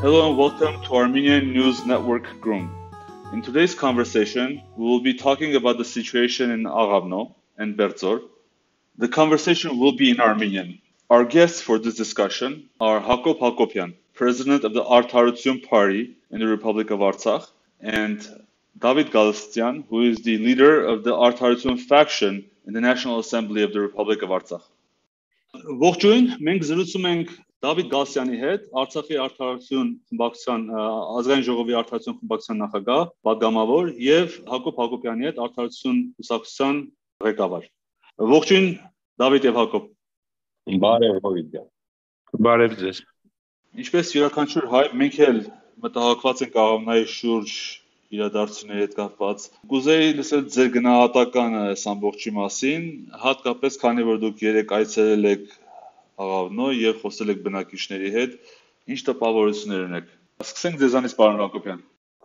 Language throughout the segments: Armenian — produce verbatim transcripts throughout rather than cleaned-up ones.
Hello and welcome to Armenian News Network Grum. In today's conversation, we will be talking about the situation in Aghavno and Berdzor. The conversation will be in Armenian. Our guests for this discussion are Hakop Hakopian, president of the Artarutsiun Party in the Republic of Artsakh, and David Galistyan, who is the leader of the Artarutsiun faction in the National Assembly of the Republic of Artsakh. Ողջույն, մենք զրուցում ենք Դավիթ Գալստյանի հետ, Արցախի Արդարություն խմբակցության ազգային ժողովի Արդարություն խմբակցության նախագահ, պատգամավոր եւ Հակոբ Հակոբյանի հետ Արդարություն կուսակցության ղեկավար։ Ողջույն Դավիթ եւ Հակոբ։ Բարև Հովիտ։ Բարև ձեզ։ Ինչպես յուրաքանչյուր հայ, մենք էլ մտահոգված ենք Աղավնայի շուրջ իրադարձությունների հետ կապված։ Կուզեի լսել ձեր գնահատականը այս ամբողջի մասին, հատկապես քանի որ դուք երեք այցելել եք Աղավնո եւ խոսել եք բնակիչների հետ, ինչ տպավորություններ ունեք։ Սկսենք ձեզանից, պարոն Հակոբյան։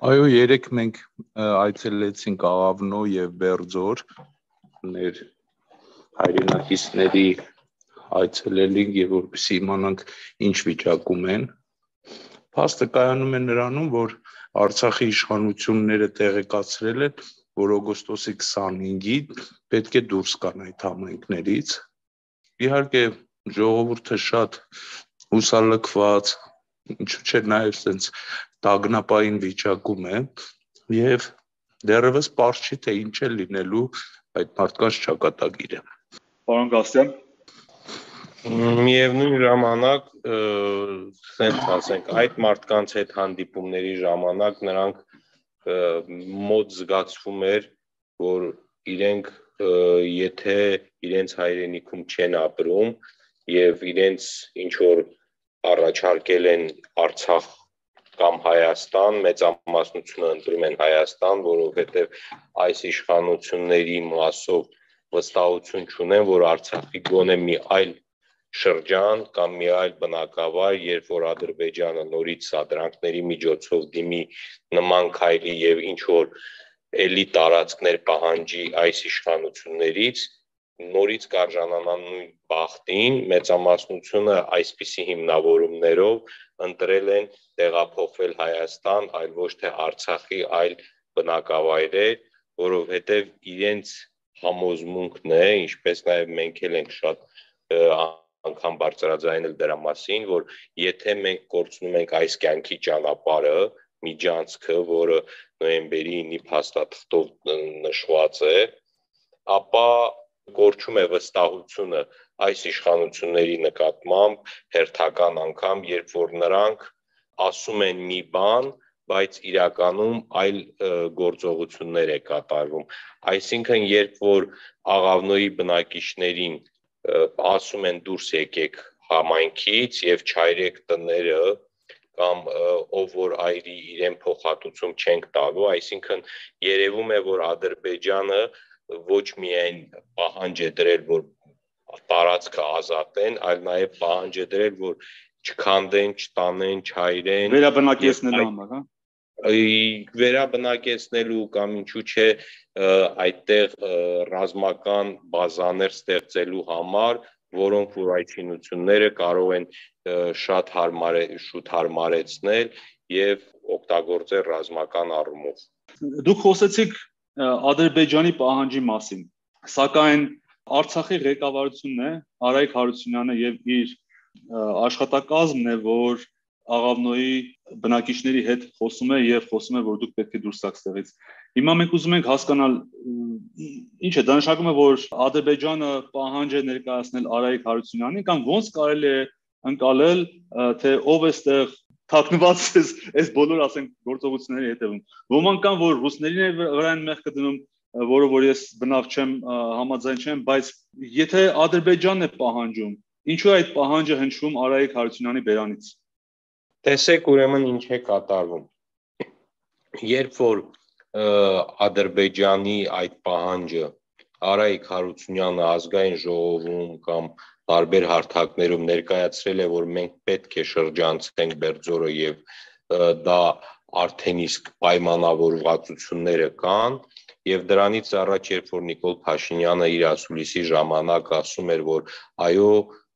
Այո, երեք մենք այցելեցինք Աղավնո եւ Բերձոր, ներ հայրենակիցների այցելելինք եւ որպեսզի իմանանք ինչ վիճակում են։ Փաստը կայանում է նրանում, որ Արցախի իշխանությունները տեղեկացրել են, որ օգոստոսի քսանհինգին պետք է դուրս գան այդ համայնքներից։ Իհարկե ժողովուրդը շատ հուսալքված, ինչու՞ չէ նաև sense տագնապային վիճակում է եւ դեռևս պարզ չի թե ինչ է լինելու այդ մարդկանց ճակատագիրը։ Պարոն Գալստյան, Միևնույն ժամանակ, ասենք ասենք, այդ մարդկանց հետ հանդիպումների ժամանակ նրանք մոտ զգացվում էր, որ իրենք եթե իրենց հայրենիքում չեն ապրում եւ իրենց ինչ որ առաջարկել են Արցախ կամ Հայաստան, մեծամասնությունը ընտրում են Հայաստան, որովհետեւ այս իշխանությունների մասով վստահություն չունեն, որ Արցախի գոնե մի այլ շրջան կամ մի այլ բնակավար, երբ որ Ադրբեջանը նորից սադրանքների միջոցով դիմի նման քայլի եւ ինչ որ էլի տարածքներ պահանջի այս իշխանություններից, նորից կարժանանան նույն բախտին, մեծամասնությունը այսպիսի հիմնավորումներով ընտրել են տեղափոխվել Հայաստան, այլ ոչ թե Արցախի այլ բնակավայրեր, որովհետեւ իրենց համոզմունքն է, ինչպես նաեւ մենք էլ ենք շատ անգամ բարձրաձայնել դրա մասին, որ եթե մենք կորցնում ենք այս կյանքի ճանապարհը, միջանցքը, որը նոյեմբերի ինը փաստաթղթով նշված է, ապա կորչում է վստահությունը այս իշխանությունների նկատմամբ հերթական անգամ, երբ որ նրանք ասում են մի բան, բայց իրականում այլ գործողություններ է կատարվում։ Այսինքն, երբ որ Աղավնոյի բնակիչներին ասում են դուրս եկեք համայնքից եւ չայրեք տները կամ ով որ այրի իրեն փոխհատուցում չենք տալու, այսինքն երևում է, որ Ադրբեջանը ոչ միայն պահանջ է դրել, որ տարածքը ազատեն, այլ նաեւ պահանջ է դրել, որ չքանդեն, չտանեն, չայրեն, վերաբնակեցնելու համար, հա։ Վերաբնակեցնելու կամ ինչու՞ չէ այդտեղ ռազմական բազաներ ստեղծելու համար, որոնք որ այդ շինությունները կարող են շատ հարմար շուտ հարմարեցնել եւ օգտագործել ռազմական առումով։ Դուք խոսեցիք Ադրբեջանի պահանջի մասին, սակայն Արցախի ղեկավարությունն է, Արայք Հարությունյանը եւ իր աշխատակազմն է, որ Աղավնոյի բնակիչների հետ խոսում է եւ խոսում է, որ դուք պետք է դուրս գաք ստեղից։ Հիմա մենք ուզում ենք հասկանալ ինչ է, դա նշանակում է, որ Ադրբեջանը պահանջ է ներկայացնել Արայք Հարությունյանին կամ ոնց կարելի է ընկալել, թե ով է ստեղ թաքնված այս բոլոր, ասենք, գործողությունների հետևում։ Ոմանք կան, որ ռուսներին վրա են մեղքը դնում, որը որ ես բնավ չեմ, համաձայն չեմ, բայց եթե Ադրբեջանն է պահանջում, ինչու է այդ պահանջը հնչում Արայք Հարությունյանի բերանից։ Տեսեք ուրեմն ինչ է կատարվում։ Երբ որ Ադրբեջանի այդ պահանջը Արայք Հարությունյանը ազգային ժողովում կամ տարբեր հարթակներում ներկայացրել է, որ մենք պետք է շրջանցենք Բերձորը եւ դա արդեն իսկ պայմանավորվածությունները կան, եւ դրանից առաջ երբ որ Նիկոլ Փաշինյանը իր ասուլիսի ժամանակ ասում էր, որ այո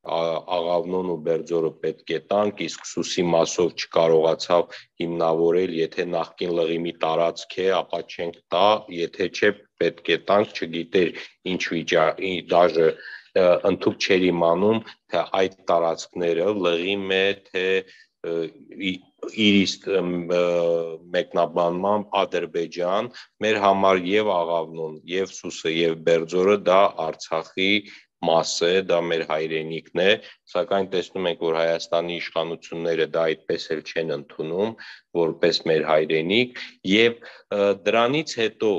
Աղավնոն ու Բերձորը պետք է տանք, իսկ Սուսի մասով չկարողացավ հիմնավորել, եթե նախկին լղիմի տարածք է, ապա չենք տա, եթե չէ պետք է տանք, չգիտեր ինչ վիճակի, դաժե ընդհանուր չէր իմանում, թե այդ տարածքները լղիմ է, թե իր մեկնաբանմամբ Ադրբեջան, մեր համար եւ Աղավնոն, եւ Սուսը, եւ Բերձորը դա Արցախի մաս է, դա մեր հայրենիքն է, սակայն տեսնում ենք, որ Հայաստանի իշխանությունները դա այդպես էլ չեն ընդունում, որպես մեր հայրենիք, եւ դրանից հետո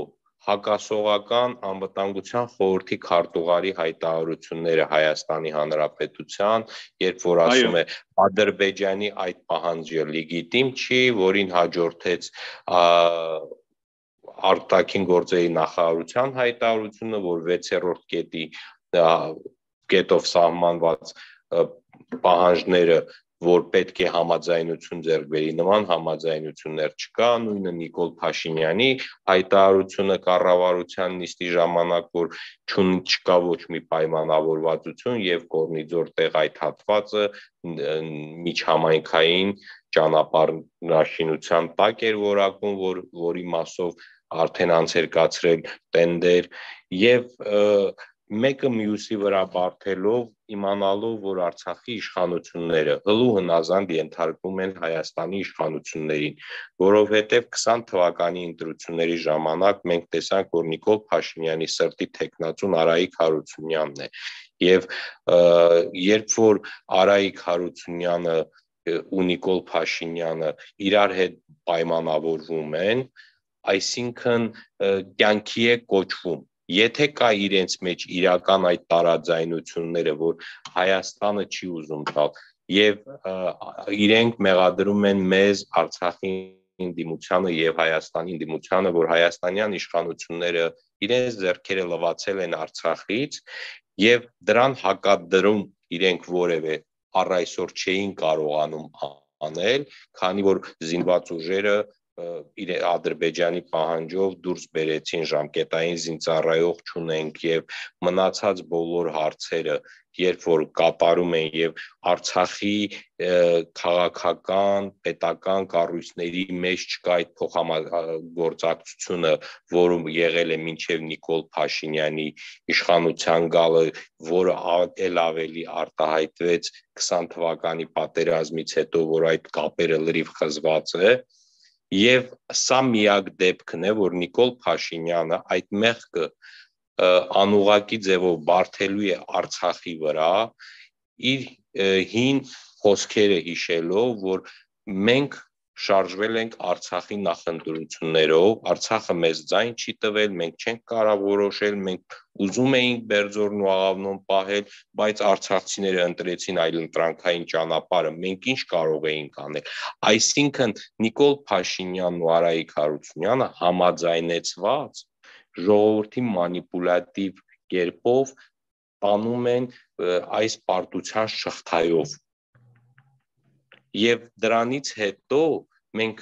հակասողական անվտանգության խորհրդի քարտուղարի հայտարարությունները Հայաստանի Հանրապետության, երբ որ ասում է Ադրբեջանի այդ պահանջը լեգիտիմ չի, որին հաջորդեց արտաքին գործերի նախարարության հայտարարությունը, որ վեցերորդ կետի կետով սահմանված պահանջները, որ պետք է համաձայնություն ձեռք բերի, նման համաձայնություններ չկա, նույնը Նիկոլ Փաշինյանի հայտարարությունը կառավարության նիստի ժամանակ, որ չկա ոչ մի պայմանավորվածություն եւ Կորնիձոր տեղ այդ հատվածը միջհամայնքային ճանապարհաշինության տակ էր որակում, որ որի մասով արդեն անց էր կացրել տենդեր եւ մեկը մյուսի վրա բարթելով իմանալով, որ Արցախի իշխանությունները հլու հնազանդ ենթարկվում են Հայաստանի իշխանություններին, որովհետև քսան թվականի ընտրությունների ժամանակ մենք տեսանք, որ Նիկոլ Փաշինյանի սրտի թեկնածուն Արայիկ Հարությունյանն է, եւ երբ որ Արայիկ Հարությունյանը ու Նիկոլ Փաշինյանը իրար հետ պայմանավորվում են, այսինքն կյանքի է կոչվում. Եթե կա իրենց մեջ իրական այդ տարաձայնությունները, որ Հայաստանը չի ուզում տալ, եւ իրենք մեղադրում են մեզ Արցախի դիմությանը եւ Հայաստանի դիմությանը, որ հայաստանյան իշխանությունները իրենց ձեռքերը լվացել են Արցախից եւ դրան հակադրում իրենք որևէ առ այսօր չէին կարողանում անել, քանի որ զինված ուժերը Ադրբեջանի պահանջով դուրս բերեցին, ժամկետային զինծառայող չունենք եւ մնացած բոլոր հարցերը, երբ որ կատարում են եւ Արցախի քաղաքական, պետական կառույցների մեջ չկա այդ փոխհամագործակցությունը, որը եղել է մինչեւ Նիկոլ Փաշինյանի իշխանության գալը, որը ել ավելի արտահայտվեց քսան թվականի պատերազմից հետո, որ այդ կապերը լրիվ խզված է. Եվ սա միակ դեպքն է, որ Նիկոլ Փաշինյանը այդ մեղքը անուղակի ձևով բարթելու է Արցախի վրա, իր հին խոսքերը հիշելով, որ մենք շարժվել ենք Արցախի նախընտրություններով, Արցախը մեզ ձայն չի տվել, մենք չենք կարող որոշել, մենք ուզում էինք Բերձորն ու Աղավնոն պահել, բայց արցախցիները ընտրեցին այլ ընտրանքային ճանապարհը, մենք ինչ կարող էինք անել։ Այսինքն Նիկոլ Փաշինյանն ու Արայիկ Հարությունյանը համաձայնեցված ժողովրդի մանիպուլատիվ կերպով տանում են այս պարտության շղթայով։ Եվ դրանից հետո մենք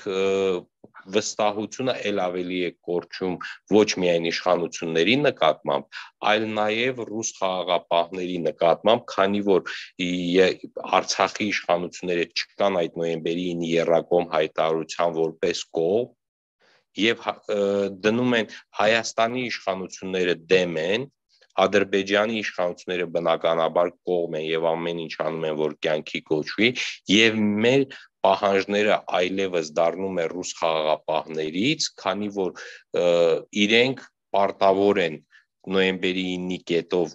վստահությունը ել ավելի է կորչում ոչ միայն իշխանությունների նկատմամբ, այլ նաև ռուս խաղաղապահների նկատմամբ, քանի որ Արցախի իշխանությունները չկան այդ նոյեմբերի ինը եռակողմ հայտարարության որպես կողմ, եւ դնում են Հայաստանի իշխանությունները դեմ են, Ադրբեջանի իշխանությունները բնականաբար կողմ են եւ ամեն ինչ անում են, որ կյանքի կոչվի, եւ մեր պահանջները այլևս դառնում է ռուս խաղաղապահներից, քանի որ իրենք պարտավոր են նոյեմբերի ինի կետով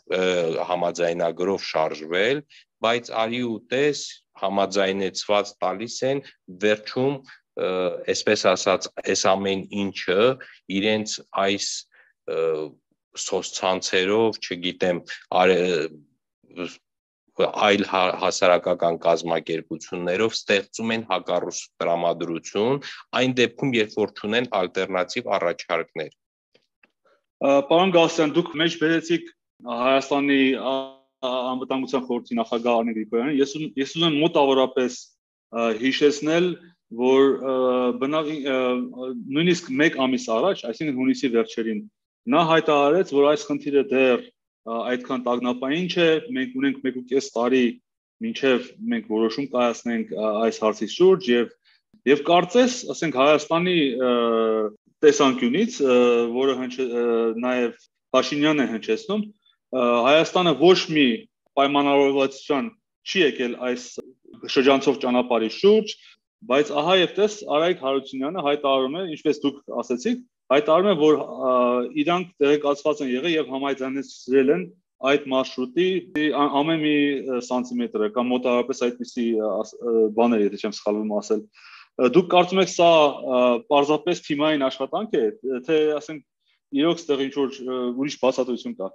համաձայնագրով շարժվել, բայց արի ու տես համաձայնեցված տալիս են վերջում, այսպես ասած, այս ամեն ինչը իրենց այս սոցցանցերով, չգիտեմ, այլ հասարակական կազմակերպություններով ստեղծում են հակառուս տրամադրություն, այն դեպքում, երբ որ չունեն ալտերնատիվ առաջարկներ։ Պարոն Գալստյան, դուք մեջ բերեցիք Հայաստանի անվտանգության խորհրդի նախագահ Արմեն Գրիգորյանին, ես ես ուզում եմ մոտավորապես հիշեցնել, որ նույնիսկ մեկ ամիս առաջ, այսինքն հունիսի վերջերին, նա հայտարարեց, որ այս խնդիրը դեռ այդքան տագնապային չէ, մենք ունենք մեկ ու կես տարի մինչև մենք որոշում կայացնենք այս հարցի շուրջ եւ եւ կարծես, ասենք Հայաստանի տեսանկյունից, որը նաեւ Փաշինյանն է հնչեցնում, Հայաստանը ոչ մի պայմանավորվածության չի եկել այս շրջանցող ճանապարհի շուրջ, բայց ահա եւ տես Արայիկ Հարությունյանը հայտարարում է, ինչպես դուք ասացիք, հայտարարում է, որ իրանք տեղեկացված են եղել եւ համաձայնեցրել են այդ մարշրուտի ամեն մի սանտիմետրը կամ մոտավորապես այդպիսի բաներ, եթե չեմ սխալվում ասել։ Դուք կարծում եք սա պարզապես թիմային աշխատանք է, թե ասենք իրոք ստեղ ինչ որ ուրիշ բացատրություն կա։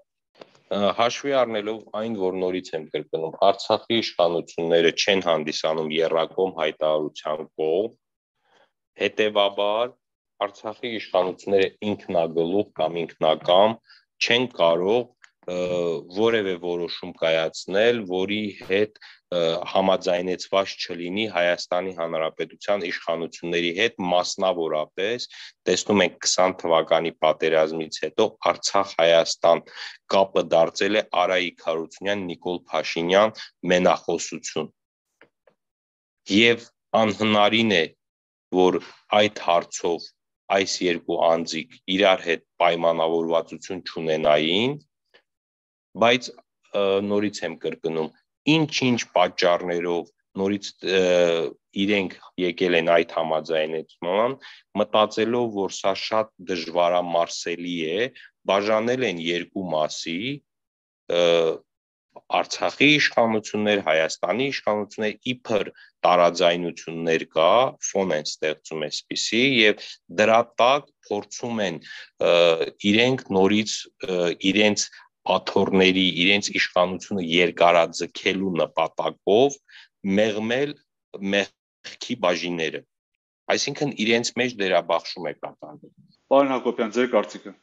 Հաշվի առնելով այն, որ նորից եմ կրկնում, Արցախի իշխանությունները չեն հանդիսանում եռակողմ հայտարարության կողմ, հետևաբար Արցախի իշխանությունները ինքնագլուխ կամ ինքնակամ չեն կարող որևէ որոշում կայացնել, որի հետ համաձայնեցված չլինի Հայաստանի Հանրապետության իշխանությունների հետ, մասնավորապես տեսնում ենք քսան թվականի պատերազմից հետո Արցախ-Հայաստան կապը դարձել է Արայիկ Հարությունյան, Նիկոլ Փաշինյան մենախոսություն։ Եվ անհնարին է, որ այդ հարցով այս երկու անձիկ իրար հետ պայմանավորվածություն չունենային, բայց նորից եմ կրկնում, ինչ-ինչ պատճառներով նորից իրենք եկել են այդ համաձայնեցման, մտածելով, որ սա շատ դժվարամարսելի է, բաժանել են երկու մասի, Արցախի իշխանություններ, Հայաստանի իշխանություններ, իբր տարաձայնություններ կա, ֆոն են ստեղծում այսպիսի եւ դրա տակ փորձում են իրենք նորից իրենց աթոռների, իրենց իշխանությունը երկարաձգելու նպատակով մեղմել մեղքի բաժինները։ Այսինքն իրենց մեջ դերաբաշխում է կատարվում։ Պարոն Հակոբյան, ձեր կարծիքը։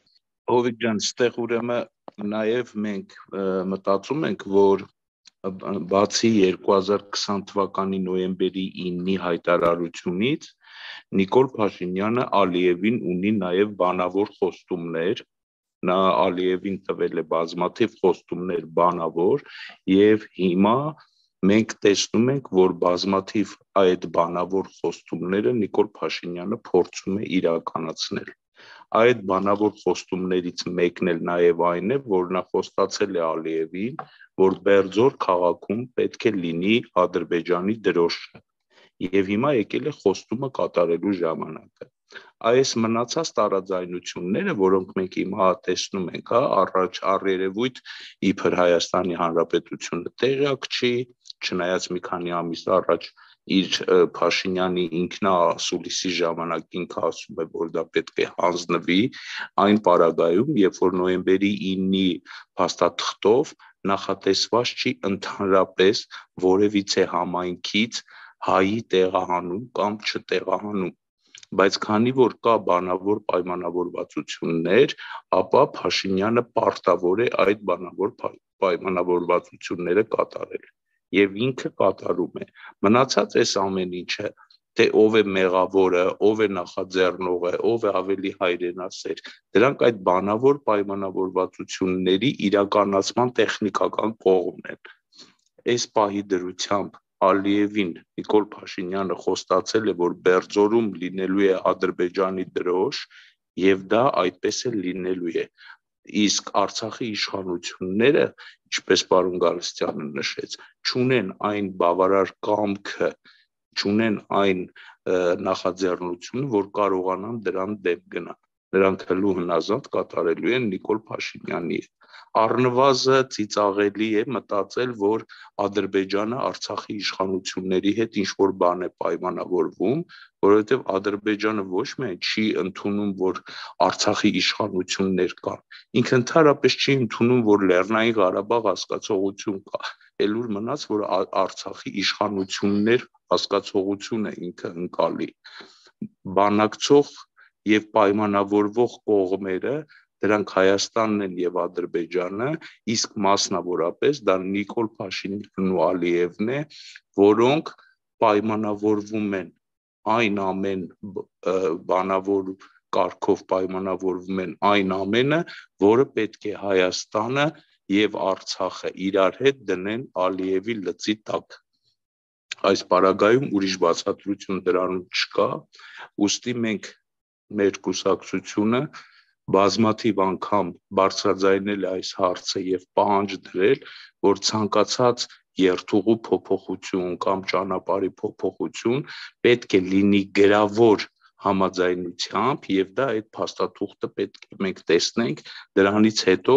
Հովիկ ջան, ստեղ ուրեմն նաև մենք մտածում ենք, որ բացի երկու հազար քսան թվականի նոյեմբերի իննի հայտարարությունից, Նիկոլ Փաշինյանը Ալիևին ունի նաև բանավոր խոստումներ, նա Ալիևին տվել է բազմաթիվ խոստումներ բանավոր եւ հիմա մենք տեսնում ենք, որ բազմաթիվ այդ բանավոր խոստումները Նիկոլ Փաշինյանը փորձում է իրականացնել։ Այդ բանավոր խոստումներից մեկն էլ նաև այն է, որ նա խոստացել է Ալիևին, որ Բերձոր քաղաքում պետք է լինի Ադրբեջանի դրոշը։ Եվ հիմա եկել է խոստումը կատարելու ժամանակը։ Այս մնացած տարաձայնությունները, որոնք մենք հիմա տեսնում ենք, հա, առաջ առերևույթ իբր Հայաստանի Հանրապետությունը տեղյակ չի, չնայած մի քանի ամիս առաջ իր Փաշինյանի ինքնասուլիսի ժամանակ ինքը ասում է, որ դա պետք է հանձնվի, այն պարագայում, երբ որ նոյեմբերի իննի փաստաթղթով նախատեսված չի ընդհանրապես որևիցե համայնքից հայի տեղահանում կամ չտեղահանում, բայց քանի որ կա բանավոր պայմանավորվածություններ, ապա Փաշինյանը պարտավոր է այդ բանավոր պայմանավորվածությունները կատարել եւ ինքը կատարում է։ Մնացած այս ամեն ինչը, թե ով է մեղավորը, ով է նախաձեռնողը, ով է ավելի հայրենասեր, դրանք այդ բանավոր պայմանավորվածությունների իրականացման տեխնիկական կողմն են։ Այս պահի դրությամբ Ալիևին Նիկոլ Փաշինյանը խոստացել է, որ Բերձորում լինելու է Ադրբեջանի դրոշ եւ դա այդպես է լինելու է։ Իսկ Արցախի իշխանությունները, ինչպես պարոն Գալստյանը նշեց, չունեն այն բավարար կամքը, չունեն այն նախաձեռնությունը, որ կարողանան դրան դեմ գնալ։ Նրանք հլու հնազանդ կատարելու են Նիկոլ Փաշինյանի հետ։ Առնվազն ծիծաղելի է մտածել, որ Ադրբեջանը Արցախի իշխանությունների հետ ինչ-որ բան է պայմանավորվում, որովհետև Ադրբեջանը ոչ միայն չի ընդունում, որ Արցախի իշխանություններ կան, ինքը ընդհանրապես չի ընդունում, որ Լեռնային Ղարաբաղ հասկացողություն կա, էլ ուր մնաց, որ Արցախի իշխանություններ հասկացողություն է ինքը ընկալի։ Բանակցող եւ պայմանավորվող կողմերը դրանք Հայաստանն են եւ Ադրբեջանը, իսկ մասնավորապես դա Նիկոլ Փաշինյանն ու Ալիևն է, որոնք պայմանավորվում են այն ամեն բանավոր կարգով պայմանավորվում են այն ամենը, որը պետք է Հայաստանը եւ Արցախը իրար հետ դնեն Ալիևի լծի տակ։ Այս պարագայում ուրիշ բացատրություն դրանում չկա, ուստի մենք մեր կուսակցությունը բազմաթիվ անգամ բարձրաձայնել է այս հարցը եւ պահանջ դրել, որ ցանկացած երթուղու փոփոխություն կամ ճանապարհի փոփոխություն պետք է լինի գրավոր համաձայնությամբ եւ դա այդ փաստաթուղթը պետք է մենք տեսնենք, դրանից հետո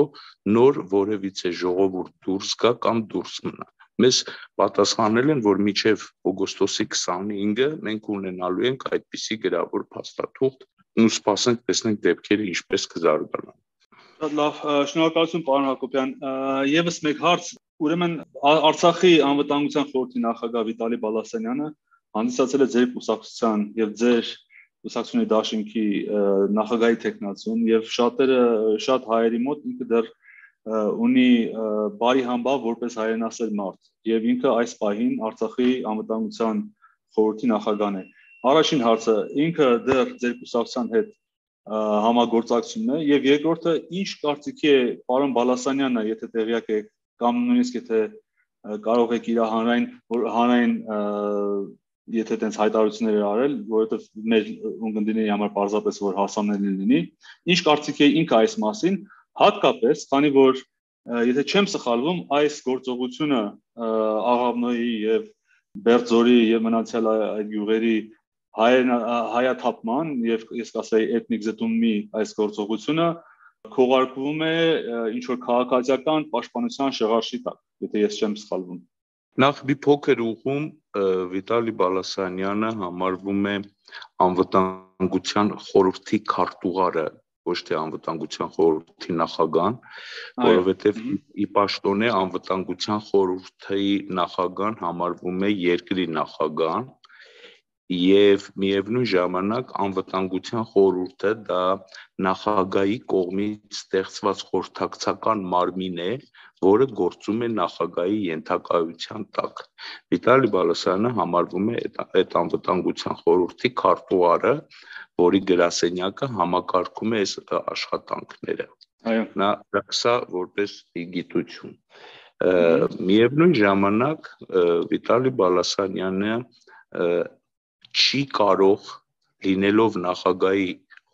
նոր որևիցե ժողովուրդ դուրս գա կամ դուրս մնա։ Մեզ պատասխանել են, որ մինչև օգոստոսի քսանհինգը մենք ունենալու ենք այդպիսի գրավոր փաստաթուղթ, ու սպասենք տեսնենք դեպքերը ինչպես կզարգանան։ Լավ, շնորհակալություն պարոն Հակոբյան։ Եվս մեկ հարց, ուրեմն Արցախի անվտանգության խորհրդի նախագահ Վիտալի Բալասանյանը հանդիսացել է ձեր կուսակցության եւ ձեր կուսակցությունների դաշինքի նախագահի տեխնացուն եւ շատերը շատ հայերի մոտ ինքը դեռ ունի բարի համբավ որպես հայրենասեր մարդ եւ ինքը այս պահին Արցախի անվտանգության խորհրդի նախագահն է։ Առաջին հարցը, ինքը դեռ ձեր կուսակցության հետ համագործակցում է եւ երկրորդը, ինչ կարծիքի է պարոն Բալասանյանը, եթե տեղյակ եք կամ նույնիսկ եթե կարող եք իր հանրային հանրային եթե տենց հայտարարություններ արել, որովհետեւ մեր ունկնդիրների համար պարզապես որ հասանելի լինի, ինչ կարծիքի է ինքը այս մասին, հատկապես, քանի որ եթե չեմ սխալվում, այս գործողությունը Աղավնոյի եւ Բերձորի եւ մնացյալ այդ յուղերի հայաթափման եւ ես կասեի էթնիկ զտումի այս գործողությունը քողարկվում է ինչ որ քաղաքացիական պաշտպանության շղարշի տակ, եթե ես չեմ սխալվում։ Նախ մի փոքր ուղում Վիտալի Բալասանյանը համարվում է անվտանգության խորհրդի քարտուղարը, ոչ թե անվտանգության խորհրդի նախագահան, որովհետև ի պաշտոնե անվտանգության խորհրդի նախագահան համարվում է երկրի նախագահան եւ միևնույն ժամանակ անվտանգության խորհուրդը դա նախագահի կողմից ստեղծված խորհրդակցական մարմին է, որը գործում է նախագահի ենթակայության տակ։ Վիտալի Բալասանյանը համարվում է այդ անվտանգության խորհրդի քարտուղարը, որի գրասենյակը համակարգում է այս աշխատանքները։ Այո, նա սա որպես գիտություն։ Միևնույն ժամանակ Վիտալի Բալասանյանը չի կարող լինելով նախագահի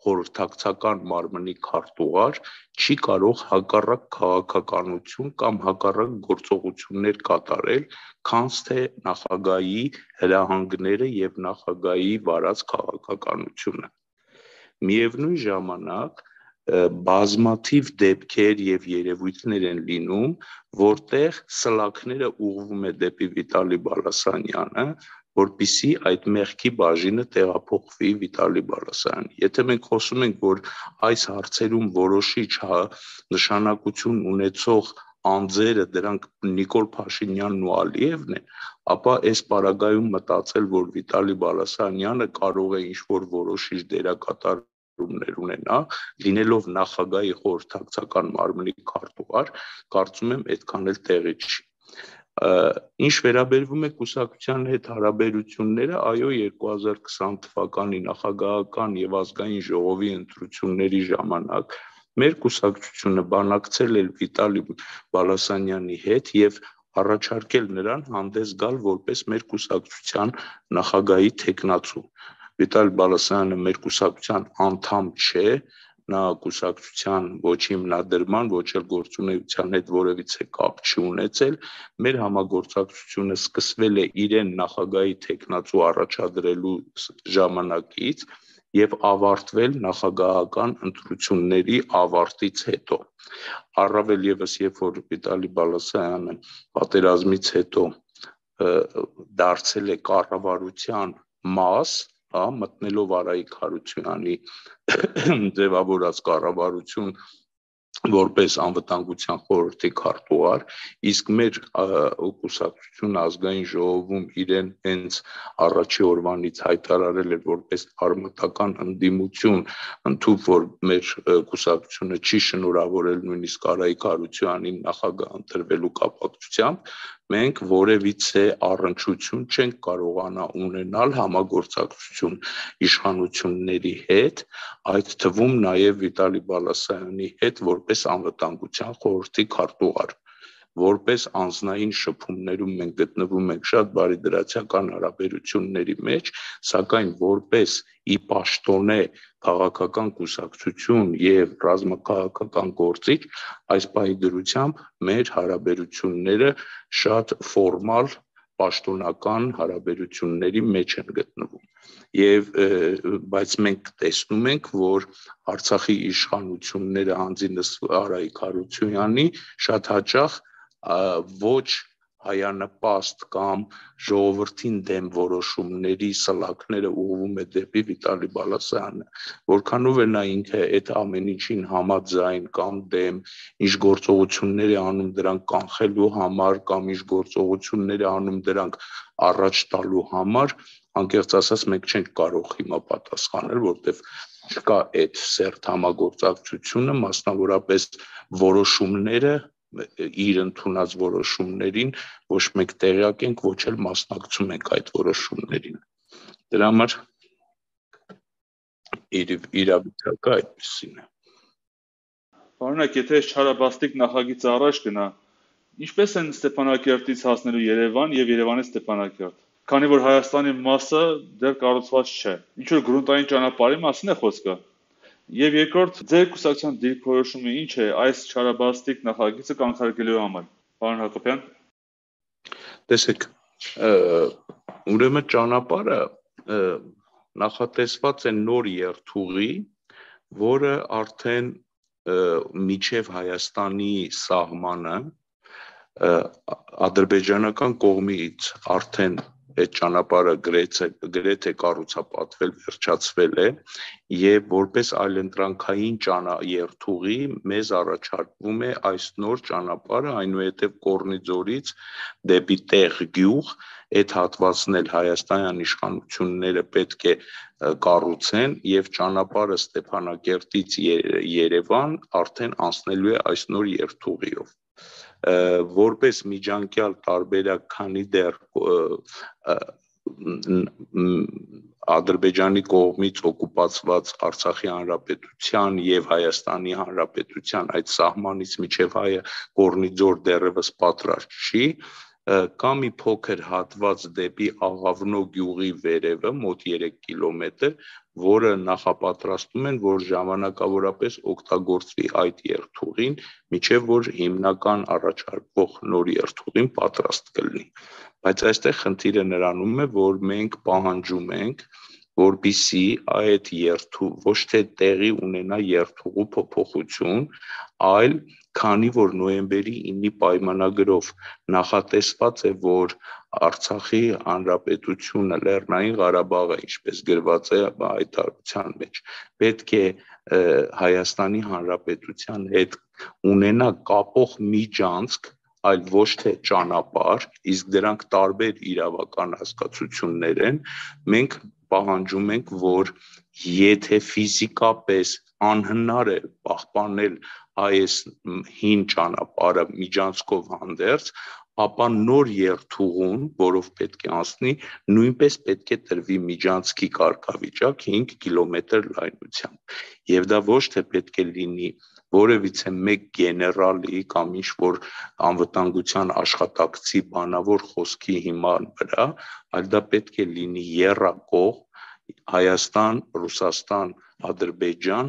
խորհրդակցական մարմնի քարտուղար, չի կարող հակառակ քաղաքականություն կամ հակառակ գործողություններ կատարել, քանց թե նախագահի հրահանգները եւ նախագահի վարած քաղաքականությունը։ Միևնույն ժամանակ բազմաթիվ դեպքեր եւ երևույթներ են լինում, որտեղ սլաքները ուղղվում է դեպի Վիտալի Բալասանյանը, որպեսզի այդ մեղքի բաժինը տեղափոխվի Վիտալի Բալասանյան։ Եթե մենք խոսում ենք, որ այս հարցերում որոշիչ նշանակություն ունեցող անձերը դրանք Նիկոլ Փաշինյանն ու Ալիևն են, ապա այս պարագայում մտածել, որ Վիտալի Բալասանյանը կարող է ինչ-որ որոշիչ դերակատարումներ ունենա, լինելով նախագահի խորհրդակցական մարմնի քարտուղար, կարծում եմ այդքան էլ տեղի չի։ Ինչ վերաբերվում է կուսակցության հետ հարաբերությունները, այո, երկու հազար քսան թվականի նախագահական եւ ազգային ժողովի ընտրությունների ժամանակ մեր կուսակցությունը բանակցել էր Վիտալի Բալասանյանի հետ եւ առաջարկել նրան հանդես գալ որպես մեր կուսակցության նախագահի տեխնացու։ Վիտալի Բալասանյանը մեր կուսակցության անդամ չէ, նա կուսակցության ոչ հիմնադրման, ոչ էլ գործունեության հետ որևիցե կապ չի ունեցել, մեր համագործակցությունը սկսվել է իրեն նախագահի տեխնացու առաջադրելու ժամանակից եւ ավարտվել նախագահական ընտրությունների ավարտից հետո։ Առավել եւս, երբ որ Վիտալի Բալասանյանը պատերազմից հետո դարձել է կառավարության մաս, մտնելով Արայիկ Հարությունյանի ձևավորած կառավարություն որպես անվտանգության խորհրդի քարտուղար, իսկ մեր կուսակցությունը ազգային ժողովում իրեն հենց առաջի օրվանից հայտարարել էր որպես արմատական ընդդիմություն, ընդհանուր որ մեր կուսակցությունը չի շնորհավորել նույնիսկ Արայիկ Հարությունյանին նախագահ ընտրվելու կապակցությամբ, մենք որևիցե առնչություն չենք կարողանա ունենալ համագործակցություն իշխանությունների հետ, այդ թվում նաև Վիտալի Բալասանյանի հետ որպես որպես անվտանգության խորհրդի քարտուղար, որպես անձնային շփումներում մենք գտնվում ենք շատ բարիդրացիական հարաբերությունների մեջ, սակայն որպես ի պաշտոնե քաղաքական կուսակցություն եւ ռազմաքաղաքական գործիչ, այս պահի դրությամբ մեր հարաբերությունները շատ ֆորմալ պաշտոնական հարաբերությունների մեջ են գտնվում։ Եվ բայց մենք տեսնում ենք, որ Արցախի իշխանությունները հանձինս Արայիկ Հարությունյանի շատ հաճախ ոչ հայանպաստ կամ ժողովրդին դեմ որոշումների սլաքները ուղղվում է դեպի Վիտալի Բալասարյանը, որքանով է նա ինքը այդ ամեն ինչին համաձայն կամ դեմ, ինչ գործողություններ է անում դրանք կանխելու համար կամ ինչ գործողություններ է անում դրանք առաջ տալու համար, անկեղծ ասած մենք չենք կարող հիմա պատասխանել, որտեղ չկա այդ սերտ համագործակցությունը, մասնավորապես որոշումները իր ընդունած որոշումներին ոչ մեկ տեղյակ ենք, ոչ էլ մասնակցում ենք այդ որոշումներին։ Դրա համար իրավիճակը այդպեսին է։ Պարոնակ, եթե չարաբաստիկ նախագիծը առաջ գնա, ինչպես են Ստեփանակերտից հասնելու Երևան եւ Երևանից Ստեփանակերտ, քանի որ Հայաստանի մասը դեռ կառուցված չէ։ Ինչ որ գրունտային ճանապարհի մասին է խոսքը։ Եվ երկրորդ, ձեր կուսակցության դիրքորոշումը ինչ է այս չարաբաստիկ նախագիծը կանխարգելելու համար, պարոն Հակոբյան։ Տեսեք, ուրեմն ճանապարհը նախատեսված է նոր երթուղի, որը արդեն միջև Հայաստանի սահմանը ադրբեջանական կողմից արդեն այդ ճանապարհը գրեթե կառուցապատվել, վերջացվել է եւ որպես այլընտրանքային երթուղի մեզ առաջարկվում է այս նոր ճանապարհը, այնուհետև Կորնիձորից դեպի Տեղ գյուղ, այդ հատվածն էլ հայաստանյան իշխանությունները պետք է կառուցեն եւ ճանապարհը Ստեփանակերտից Երևան արդեն անցնելու է այս նոր երթուղիով։ Որպես միջանկյալ տարբերակ, քանի դեռ Ադրբեջանի կողմից օկուպացված Արցախի հանրապետության եւ Հայաստանի հանրապետության այդ սահմանից միջև հայը Կորնիձոր դեռևս պատրաստ չի, կա մի փոքր հատված դեպի Աղավնո գյուղի վերևը, մոտ երեք կիլոմետր, որը նախապատրաստում են, որ ժամանակավորապես օգտագործվի այդ երթուղին, միջև որ հիմնական առաջարկվող նոր երթուղին պատրաստ կլինի։ Բայց այստեղ խնդիրը նրանում է, որ մենք պահանջում ենք, որպեսզի այդ երթու ոչ թե տեղի ունենա երթուղու փոփոխություն, այլ քանի որ նոյեմբերի ինը պայմանագրով նախատեսված է, որ Արցախի հանրապետությունը Լեռնային Ղարաբաղը, ինչպես գրված է հայտարարության մեջ, պետք է Հայաստանի հանրապետության հետ ունենա կապող միջանցք, այլ ոչ թե ճանապարհ, իսկ դրանք տարբեր իրավական հասկացություններ են, մենք պահանջում ենք, որ եթե ֆիզիկապես անհնար է պահպանել այս հին ճանապարհը միջանցքով հանդերձ, ապա նոր երթուղուն, որով պետք է անցնի, նույնպես պետք է տրվի միջանցքի կարգավիճակ հինգ կիլոմետր լայնությամբ։ Եվ դա ոչ թե պետք է լինի որևիցե մեկ գեներալի կամ ինչ-որ անվտանգության աշխատակցի բանավոր խոսքի հիման վրա, այլ դա պետք է լինի եռակողմ Հայաստան, Ռուսաստան, Ադրբեջան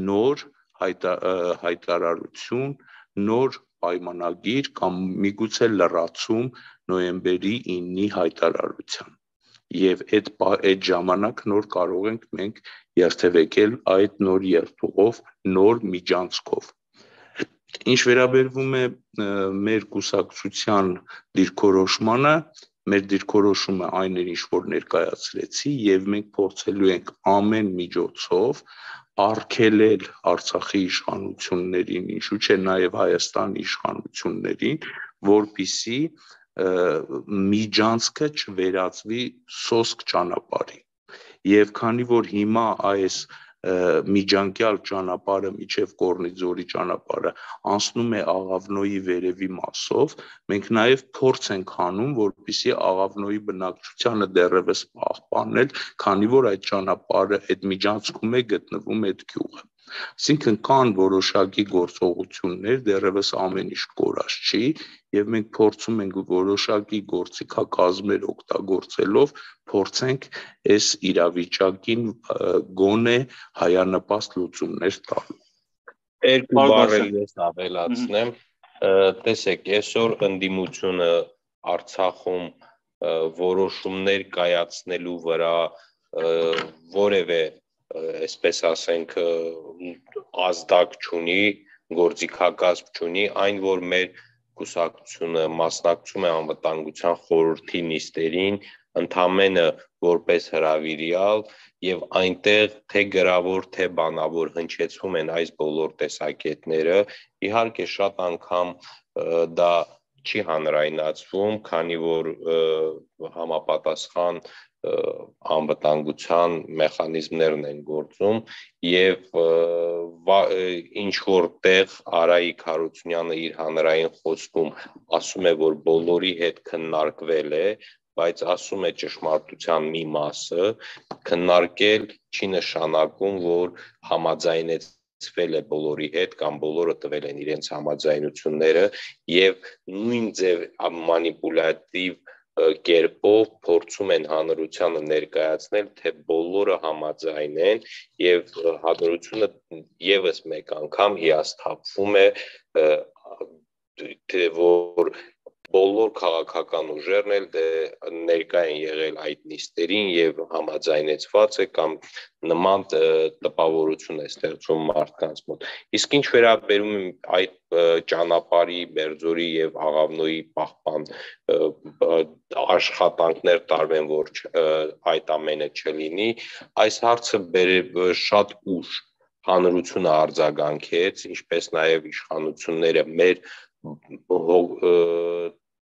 նոր հայտարարություն, նոր պայմանագիր կամ միգուցե լրացում նոյեմբերի ինը հայտարարության։ Եվ այդ այդ ժամանակ նոր կարող ենք մենք երթևեկել այդ նոր երթուղով, նոր միջանցքով։ Ինչ վերաբերվում է մեր կուսակցության դիրքորոշմանը, մեր դիրքորոշումը այն էր, ինչ որ ներկայացրեցի, եւ մենք փորձելու ենք ամեն միջոցով արգելել Արցախի իշխանություններին, ինչու՞ չէ նաև Հայաստանի իշխանություններին, որպեսզի միջանցքը չվերածվի սոսկ ճանապարհի։ Եվ քանի որ հիմա այս միջանկյալ ճանապարհը միջև Կորնիձորի ճանապարհը անցնում է Աղավնոյի վերևի մասով, մենք նաև փորձ ենք անում, որպեսզի Աղավնոյի բնակչությանը դեռևս պահպանել, քանի որ այդ ճանապարհը այդ միջանցքում է գտնվում այդ գյուղը։ Այսինքն կան որոշակի գործողություններ, դեռևս ամեն ինչ կորած չի, եւ մենք փորձում ենք որոշակի գործիքակազմեր օգտագործելով փորձենք այս իրավիճակին գոնե հայանպաստ լուծումներ տալ։ Երկու բառ ես ավելացնեմ, տեսեք, այսօր ընդդիմությունը Արցախում որոշումներ կայացնելու վրա որևէ, այսպես ասենք, ազդակ չունի, գործիքակազմ չունի, այն որ մեր կուսակցությունը մասնակցում է անվտանգության խորհրդի նիստերին, ընդամենը որպես հրավիրյալ եւ այնտեղ թե գրավոր թե բանավոր հնչեցվում են այս բոլոր տեսակետները, իհարկե շատ անգամ դա չի հանրայնացվում, քանի որ համապատասխան անվտանգության մեխանիզմներն են գործում եւ ինչ որտեղ Արայիկ Հարությունյանը իր հանրային խոսքում ասում է, որ բոլորի հետ քննարկվել է, բայց ասում է ճշմարտության մի մասը, քննարկել չի նշանակում, որ համաձայնեցվել է բոլորի հետ կամ բոլորը տվել են իրենց համաձայնությունները եւ նույն ձև մանիպուլատիվ կերպով փորձում են հանրությանը ներկայացնել, թե բոլորը համաձայն են եւ հանրությունը եւս մեկ անգամ հիասթափվում է, թե որ բոլոր քաղաքական ուժերն էլ ներկա են եղել այդ նիստերին եւ համաձայնեցված է կամ նման տպավորություն է ստեղծում մարդկանց մոտ։ Իսկ ինչ վերաբերում է այդ ճանապարհի, Բերձորի եւ Աղավնոյի պահպան աշխատանքներ տարվեն, որ այդ ամենը չլինի, այս հարցը շատ ուշ հանրությունը արձագանքեց, ինչպես նաեւ իշխանությունները մեր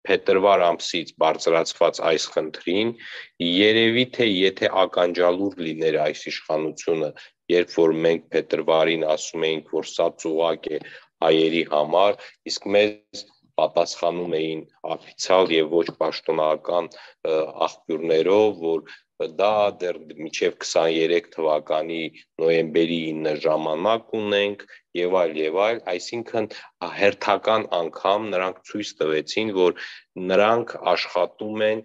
փետրվար ամսից բարձրացված այս խնդրին, երևի թե եթե ականջալուր լիներ այս իշխանությունը, երբ որ մենք փետրվարին ասում էինք, որ սա ծուղակ է հայերի համար, իսկ մեզ պատասխանում էին օֆիցիալ եւ ոչ պաշտոնական աղբյուրներով, որ դա դեռ մինչև քսաներեք թվականի նոյեմբերի ինը ժամանակ ունենք եւ այլ եւ այլ, այսինքն հերթական անգամ նրանք ցույց տվեցին, որ նրանք աշխատում են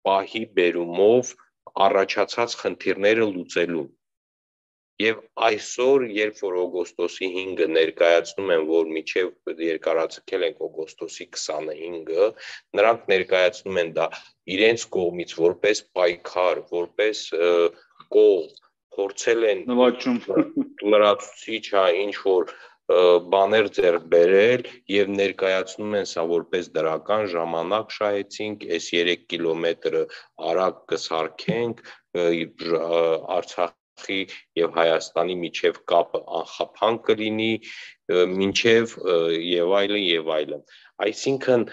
պահի բերումով առաջացած խնդիրները լուծելու։ Եվ այսօր, երբ որ օգոստոսի հինգը ներկայացնում են, որ մինչև երկարաձգել ենք օգոստոսի քսանհինգը, նրանք ներկայացնում են դա իրենց կողմից որպես պայքար, որպես կողմ, փորձել են լրացուցիչ, ինչ որ բաներ ձեռք բերել եւ ներկայացնում են սա որպես դրական ժամանակ շահեցինք, այս երեք կիլոմետրը արագ կսարքենք, Արցախ եւ Հայաստանի միջև կապը անխափան կլինի, մինչև եւ այլն եւ այլն։ Այսինքն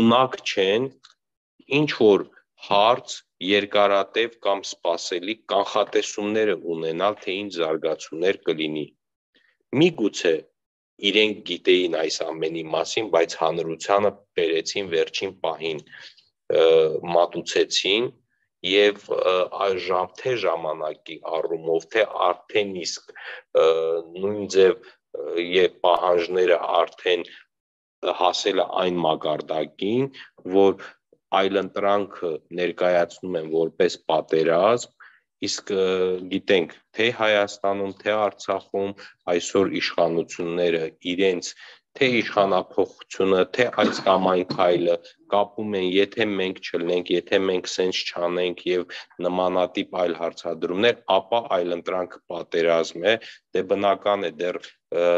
ունակ չեն ինչ որ հարց երկարատև կամ սպասելի կանխատեսումները ունենալ, թե ինչ զարգացումներ կլինի։ Միգուցե իրենք գիտեին այս ամենի մասին, բայց հանրությանը բերեցին վերջին պահին, մատուցեցին եւ թե ժամանակի առումով, թե արդեն իսկ նույն ձև եւ պահանջները արդեն հասել է այն մակարդակին, որ այլընտրանքը ներկայացնում են որպես պատերազմ, իսկ գիտենք, թե Հայաստանում, թե Արցախում այսօր իշխանությունները իրենց թե իշխանափոխությունը, թե այս կամ այն քայլը կապում են, եթե մենք չլինենք, եթե մենք սենց չանենք եւ նմանատիպ այլ հարցադրումներ, ապա այլընտրանքը պատերազմ է, դե բնական է դեռ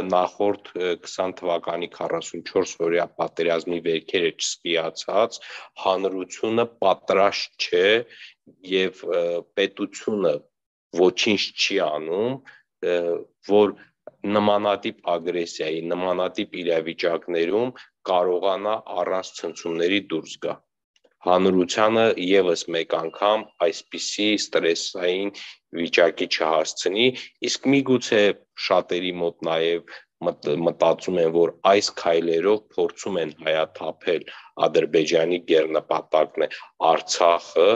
նախորդ քսան թվականի քառասունչորս օրյա պատերազմի վերքերը չսպիացած, հանրությունը պատրաստ չէ եւ պետությունը ոչինչ չի անում, որ նմանատիպ ագրեսիայի, նմանատիպ իրավիճակներում կարողանա առանց ցնցումների դուրս գա։ Հանրությանը եւս մեկ անգամ այսպիսի ստրեսային վիճակի չհասցնի, իսկ միգուցե շատերի մոտ նաեւ մտածում են, որ այս քայլերով փորձում են հայաթափել Ադրբեջանի գերնպատակն է Արցախը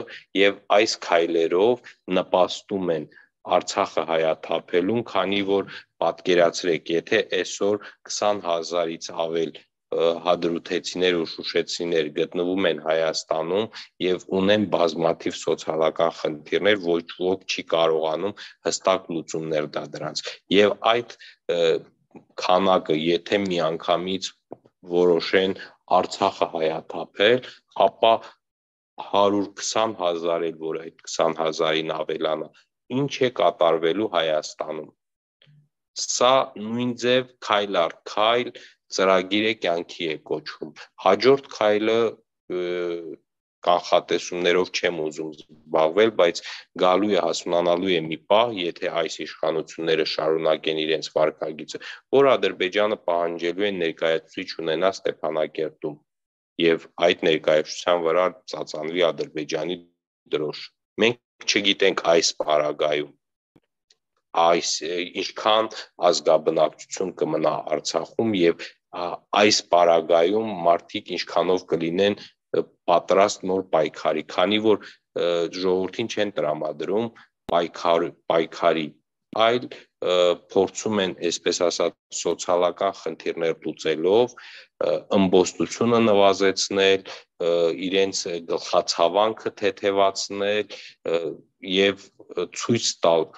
եւ այս քայլերով նպաստում են Արցախը հայաթափելուն, քանի որ պատկերացրեք, եթե այսօր քսան հազարից ավել հադրութեցիներ ու շուշեցիներ գտնվում են Հայաստանում եւ ունեն բազմաթիվ սոցիալական խնդիրներ, ոչ ոք չի կարողանում հստակ լուծումներ տա դրանց։ Եվ այդ քանակը, եթե միանգամից որոշեն Արցախը հայաթափել, ապա հարյուր քսան հազար էլ որ այդ քսան հազարին ավելանա, ինչ է կատարվելու Հայաստանում։ Սա նույն ձև քայլ առ քայլ ծրագիր է կյանքի է կոչվում։ Հաջորդ քայլը կանխատեսումներով չեմ ուզում զբաղվել, բայց գալու է հասունանալու է մի պահ, եթե այս իշխանությունները շարունակեն իրենց վարքագիծը, որ Ադրբեջանը պահանջելու է ներկայացուցիչ ունենա Ստեփանակերտում եւ այդ ներկայացության վրա ծածանվի Ադրբեջանի դրոշ։ Մենք չգիտենք այս պարագայում այս ինչքան ազգաբնակչություն կմնա Արցախում եւ այս պարագայում մարդիկ ինչքանով կլինեն պատրաստ նոր պայքարի, քանի որ ժողովրդին չեն տրամադրում պայքար պայքարի, այլ փորձում են, այսպես ասած, սոցիալական խնդիրներ լուծելով ըմբոստությունը նվազեցնել, իրենց գլխացավանքը թեթևացնել եւ ցույց տալ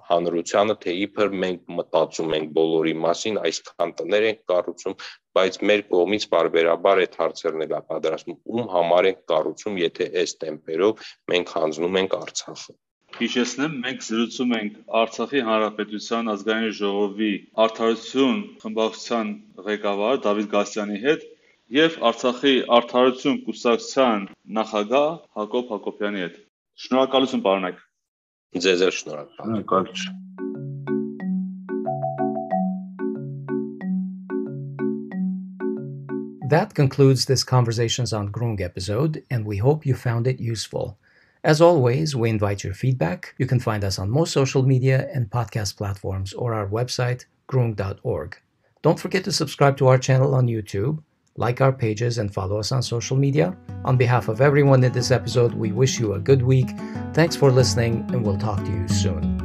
հանրությանը, թե իբր մենք մտածում ենք բոլորի մասին, այսքան տներ ենք կառուցում, բայց մեր կողմից բարբերաբար այդ հարցերն էլ պատրաստում, ում համար ենք կառուցում, եթե այս տեմպերով մենք հանձնում ենք Արցախը։ Հիշեցնեմ, մենք զրուցում ենք Արցախի Հանրապետության ազգային ժողովի Արդարություն խմբակցության ղեկավար Դավիթ Գասյանի հետ եւ Արցախի Արդարություն կուսակցության նախագահ Հակոբ Հակոբյանի հետ։ Շնորհակալություն, պարոնայք։ Ձեզ էլ շնորհակալ։ That concludes this Conversations on Grung episode, and we hope you found it useful. As always, we invite your feedback. You can find us on most social media and podcast platforms or our website, grung dot org. Don't forget to subscribe to our channel on YouTube, like our pages, and follow us on social media. On behalf of everyone in this episode, we wish you a good week. Thanks for listening, and we'll talk to you soon.